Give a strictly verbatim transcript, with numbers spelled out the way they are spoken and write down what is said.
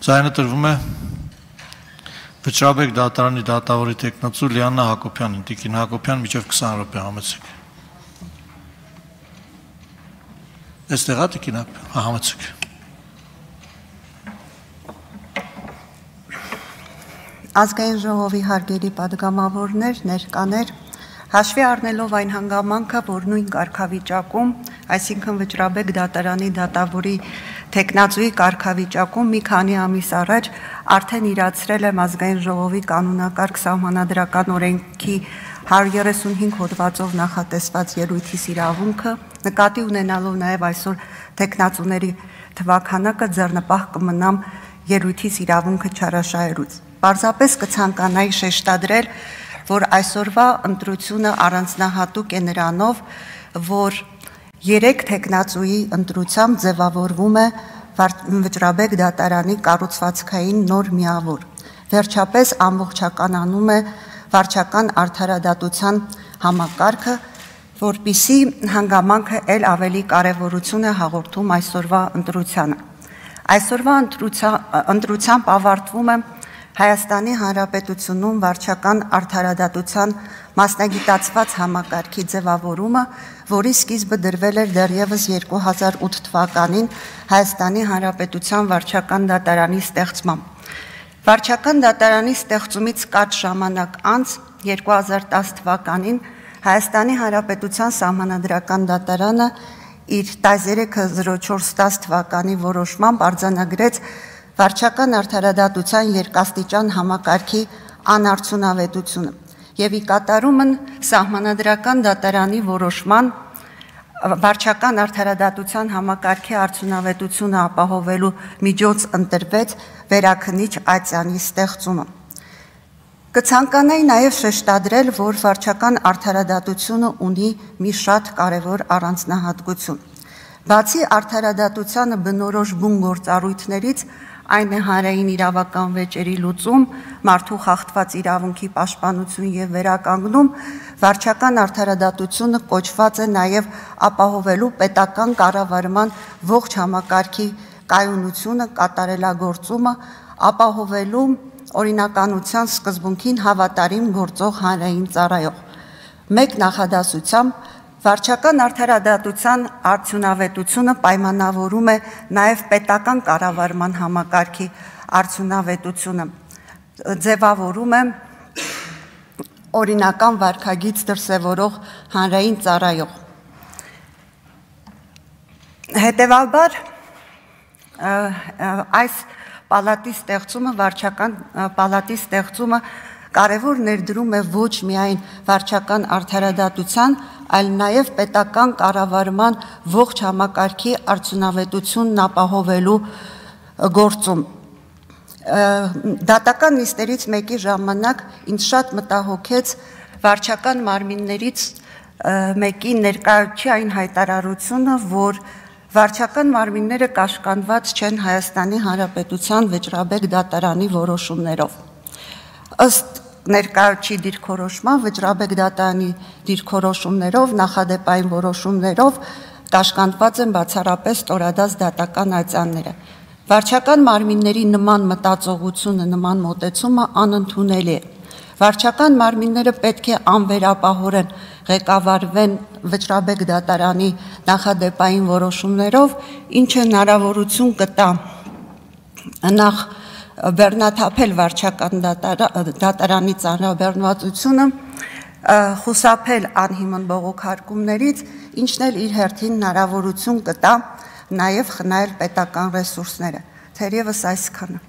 Ձայնը տրվում է Վճռաբեկ դատարանի դատավորի տեխնացու Լիաննա Հակոբյանին, Տիկին Հակոբյան, միջև քսան րոպե համեցեք։ Այստեղ է Տիկին Հակոբյան, համեցեք։ Ազգային ժողովի հարգելի պատգամավորներ, ներկաներ, հաշվի առնելով այն հանգամանքը, որ նույն կարգավիճակում, այսինքն Վճռաբեկ դատարանի դատավորի տեխնացուի կարգավիճակում մի քանի ամիս առաջ արդեն իրացրել եմ Ազգային ժողովի կանոնակարգ սահմանադրական օրենքի հարյուր երեսունհինգ հոդվածով նախատեսված ելույթիս իրավունքը, նկատի ունենալով նաև այսօր տեխնացուների թվաքանակը ձեռնպահ կմնամ ելույթիս իրավունքը չարաշահելուց։ Պարզապես կցանկանայի շեշտադրել, որ այսօրվա ընտրությունը առանձնահատուկ է նրանով, որ երեք տեխնացուի ընտրությամբ ձևավորվում է Վճռաբեկ դատարանի կառուցվածքային նոր միավոր։ Վերջապես ամբողջականանում է վարչական արդարադատության համակարգը, որպիսի հանգամանքը էլ ավելի կարևորություն է հաղորդում այսօրվա ընտրությանը։ Այսօրվա ընտրությամբ ավարտվում է Հայաստանի Հանրապետությունում վարչական արդարադատության մասնագիտացված համակարգի ձևավորումը, որի սկիզբը դրվել էր դեռևս երկու հազար ութ թվականին Հայաստանի Հանրապետության վարչական դատարանի ստեղծմամբ։ Վարչական դատարանի ստեղծումից կարճ ժամանակ անց երկու հազար տաս թվականին Հայաստանի Հանրապետության սահմանադրական դատարանը իր տասներեք հազար չորս տաս թվականի որոշմամբ արձանագրեց վարչական արդարադատության երկաստիճան համակարգի անարդյունավետությունը եւ ի կատարումն սահմանադրական դատարանի որոշման վարչական արդարադատության համակարգի արդյունավետությունը ապահովելու միջոց ընտրվեց վերաքննիչ ատյանի ստեղծումը։ Կցանկանայի նաև շեշտադրել, որ վարչական արդարադատությունը ունի մի շատ կարևոր առանձնահատկություն։ Բացի արդարադատությանը բնորոշ բուն գործառույթներից, այն է հանրային իրավական վեճերի լուծում, մարդու խախտված իրավունքի պաշտպանություն եւ վերականգնում, վարչական արդարադատությունը կոչված է նաեւ ապահովելու պետական կառավարման ողջ համակարգի կայունությունը, կատարելագործումը, ապահովելու օրինականության սկզբունքին հավատարիմ գործող հանրային ծառայող։ Մեկ նախադասությամբ վարչական արդարադատության արդյունավետությունը պայմանավորում է նաև պետական կառավարման համակարգի արդյունավետությունը, ձևավորում է օրինական վարքագիծ դրսևորող հանրային ծառայող։ Հետևաբար այս պալատի ստեղծումը, վարչական պալատի ստեղծումը կարևոր ներդրում է ոչ միայն վարչական արդարադատության, այլ նաև պետական կառավարման ողջ համակարգի արդյունավետությունն ապահովելու գործում։ Դատական նիստերից մեկի ժամանակ ինձ շատ մտահոգեց վարչական մարմիններից մեկի ներկայացուցիչ այն հայտարարությունը, որ վարչական մարմինները կաշկանդված չեն Հայաստանի Հանրապետության Վճռաբեկ դատարանի որոշումներով։ Ըստ ներկայացուցիչ դիրքորոշման Վճռաբեկ դատարանի դիրքորոշումներով, նախադեպային որոշումներով կաշկանդված են բացառապես ստորադաս դատական ատյանները։ Վարչական մարմինների նման մտածողությունը, նման մոտեցումը անընդունելի է։ Վարչական մարմինները պետք է անվերապահորեն ղեկավարվեն Վճռաբեկ դատարանի նախադեպային որոշումներով, ինչը հնարավորություն կտա նախ բեռնաթափել վարչական դատարանի ծանրաբեռնվածությունը, խուսափել անհիմն բողոքարկումներից, ինչն էլ իր հերթին հնարավորություն կտա նաև խնայել պետական ռեսուրսները։ Թերևս այսքանը։